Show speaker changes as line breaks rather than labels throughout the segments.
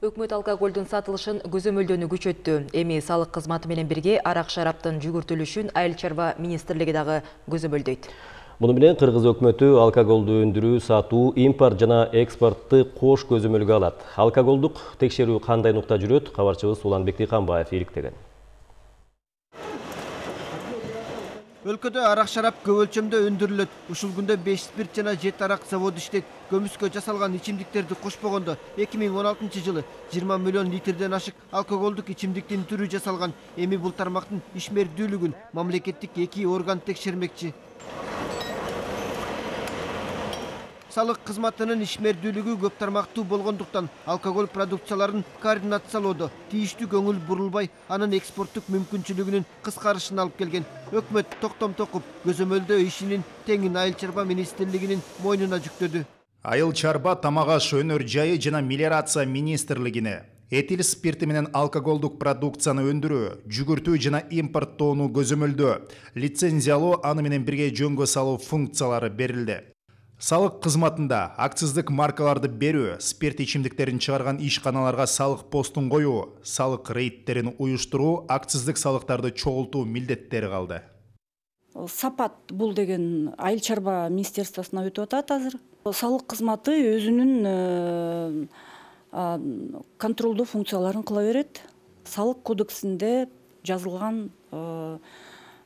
Өкмөт алкоголдун сатылышын көзөмөлдөнүү күчөттү. Эми салык кызматы менен бирге арак шараптын жүгүртүлүшүн Айыл чарба министрлиги дагы көзөмөлдөйт.
Муну менен Кыргыз өкмөтү алкоголду өндүрүү, сатуу, импорт жана экспортты кош көзөмөлгө алат. Алкоголдук текшерүү кандай нукта жүрөт? Кабарчыбыз Уланбек Дыйканбаев иликтеген.
Өлкөдө арак шарап көп өлчөмдө өндүрүлөт. Ушул күндө 5 спирт жана 7 арак заводу иштейт. Көмүскө жасалган ичимдиктерди кошпогондо 2016 жылы 20 миллион литрден ашык алкоголдук ичимдиктин түрү жасалган. Эми бул тармактын ишмердүүлүгүн мамлекеттик 2 орган текшермекчи. Салык кызматынын ишмердүүлүгү көп тармактуу болгондуктан алкоголь продукцияларын координациялоодо тийиштүү көңүл бурулбай, анын экспорттук мүмкүнчүлүгүнүн кыскарышына алып келген. Өкмөт токтом токуп көзөмөлдөө ишинин теңин Айыл чарба министрлигинин мойнуна жүктөдү.
Айыл чарба, тамак аш, өнөр жайы жана мелиорация министрлигине этил спирти менен алкоголдук продукцияны өндүрүү, жүгүртүү жана импорттоону көзөмөлдөө, лицензиялоо, аны менен бирге жөнгө салуу функциялары берилди. Салык кызматында акциздик маркаларды берүү, спирт ичимдиктерин чыгарган ишканаларга салык постун коюу, салык рейдтерин уюштуруу, акциздик салыктарды чогултуу милдеттери калды.
Сапат бул деген Айыл чарба министерствосуна өтүп атат азыр. Салык кызматы өзүнүн контролдуу функцияларын кыла берет. Салык кодексинде жазылган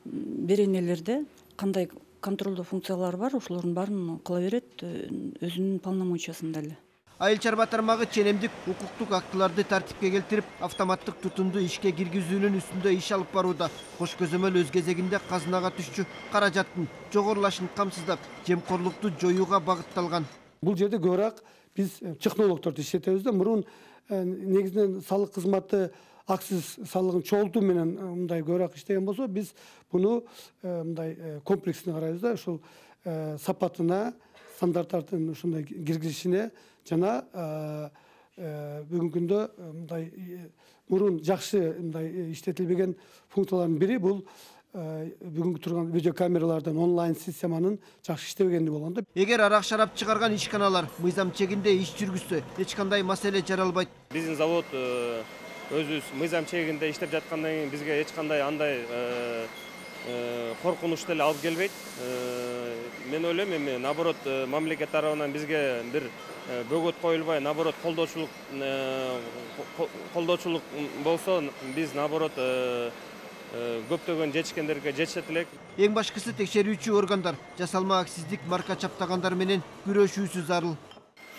беренелерде кандай контролдуу функциялар бар, ошолордун баарын кыла берет өзүнүн полномочиясында эле.
Айыл чарба тармагы ченемдик укуктук актыларды тартипке келтирип, автоматтык тутумду ишке киргизүүнүн үстүндө иш алып барууда. Кош көзөмөл өз кезегинде казынага түшчү каражаттын жогорулашын камсыздап, жемкорлукту жоюуга багытталган.
Бул жерде көбүрөөк биз технологдорду иштетебиз да. Мурун негизинен салык кызматы акциз салыгын чогултуу менен мындай көбүрөөк иштеген болсо, биз буну мындай комплексно карайбыз да. Ушул сапатына, стандарттардын ушундай киргизишине жана бүгүнкү күндө мындай мурун жакшы мындай иштетилбеген функциялардын бири бул бүгүнкү турган видео камералардын онлайн системанын жакшы иштебегендиги болгон да.
Эгер арак шарап чыгарган ишканалар мыйзам чегинде иш жүргүзсө, эч кандай маселе жаралбайт.
Биздин завод өзүбүз мыйзам чегинде иштеп жаткандан кийин бизге эч кандай андай коркунуч деле алып келбейт. Мен ойлойм, эми наоборот мамлекет тарабынан бизге бир бөгөт коюлбай, наоборот колдоочулук болсо, биз наоборот көптөгөн жетишкендерге жетишет элек.
Эң башкысы текшерүүчү органдар жасалма акциздик марка чаптагандар менен күрөшүүсү зарыл.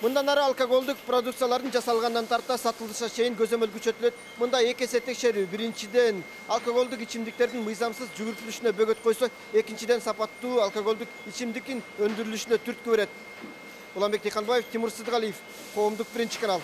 Мындан ары алкоголдук продукциялардын жасалгандан тарта сатылышына чейин көзөмөл күчөтүлөт. Мында 2 эсе текшерүү. Биринчиден алкоголдук ичимдиктердин мыйзамсыз жүгүртүлүшүнө бөгөт койсо, экинчиден сапаттуу алкоголдук ичимдиктин өндүрүлүшүнө түрткү берет. Уланбек Дыйканбаев, Тимур Сыдыгалиев, Коомдук 1 канал.